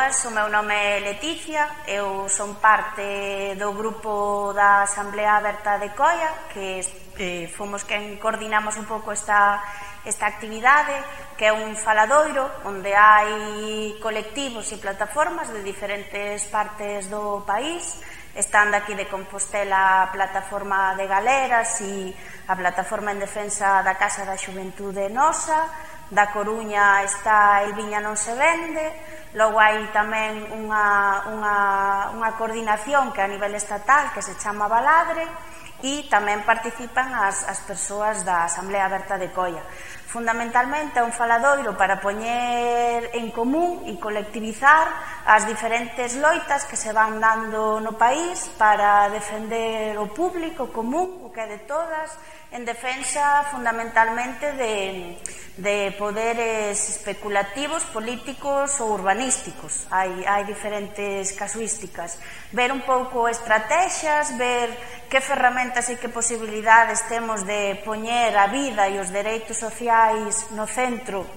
boas, o meu nome é Leticia, eu son parte do grupo da Asamblea Aberta de Coia, que fomos quen coordinamos un pouco esta actividade, que é un faladoiro onde hai colectivos e plataformas de diferentes partes do país. Están daqui de Compostela a plataforma de Galeras e a plataforma en defensa da Casa da Xuventude Nosa. Da Coruña está El Viña non se vende. Logo hai tamén unha coordinación que a nivel estatal que se chama Baladre, e tamén participan as persoas da Asamblea Aberta de Coia. Fundamentalmente é un faladoiro para poñer en común e colectivizar as diferentes loitas que se van dando no país para defender o público común, o que é de todas, en defensa fundamentalmente de poderes especulativos, políticos ou urbanísticos. Hai diferentes casuísticas. Ver un pouco estrategias, ver que ferramentas e que posibilidades temos de poñer a vida e os dereitos sociais no centro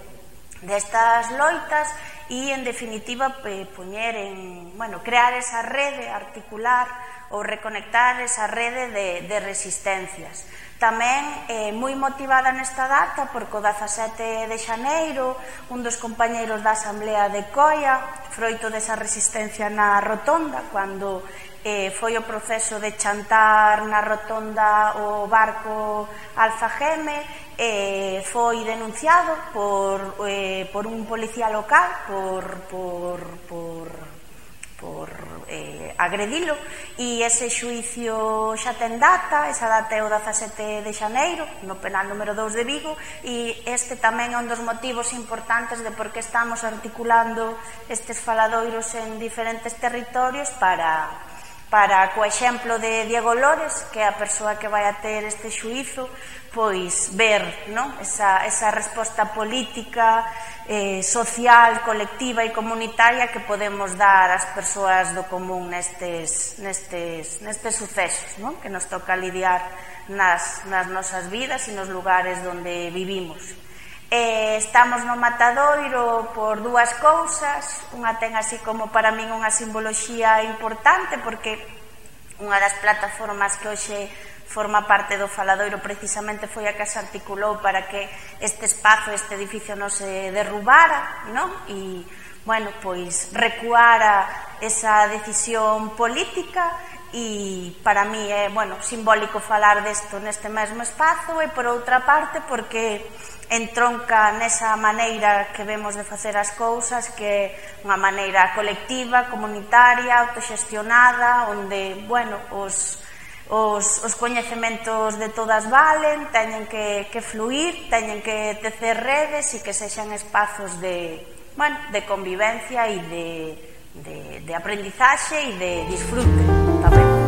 destas loitas e, en definitiva, crear esa rede, articular ou reconectar esa rede de resistencias. Tamén moi motivada nesta data porque o 17 de xaneiro un dos compañeiros da Asamblea de Coia, froito desa resistencia na rotonda, cando foi o proceso de chantar na rotonda o barco Alfageme, foi denunciado por un policía local por agredilo, e ese xuicio xa ten data. Esa data é o 17 de xaneiro no penal número 2 de Vigo, e este tamén é un dos motivos importantes de por que estamos articulando estes faladoiros en diferentes territorios para co exemplo de Diego Lores, que é a persoa que vai a ter este xuízo, pois ver esa resposta política, social, colectiva e comunitaria que podemos dar ás persoas do común nestes sucesos que nos toca lidiar nas nosas vidas e nos lugares onde vivimos. Estamos no matadoiro por dúas cousas. Unha ten así como para min unha simboloxía importante, porque unha das plataformas que hoxe forma parte do faladoiro precisamente foi a que se articulou para que este espazo, este edificio non se derrubara, e, pois recuara esa decisión política. E para mí é, simbólico falar desto neste mesmo espazo, e por outra parte porque entronca nesa maneira que vemos de facer as cousas, que é unha maneira colectiva, comunitaria, autoxestionada, onde, os coñecementos de todas valen, teñen que fluir, teñen que tecer redes e que sexan espazos de convivencia e de aprendizaxe e de disfrute tamén.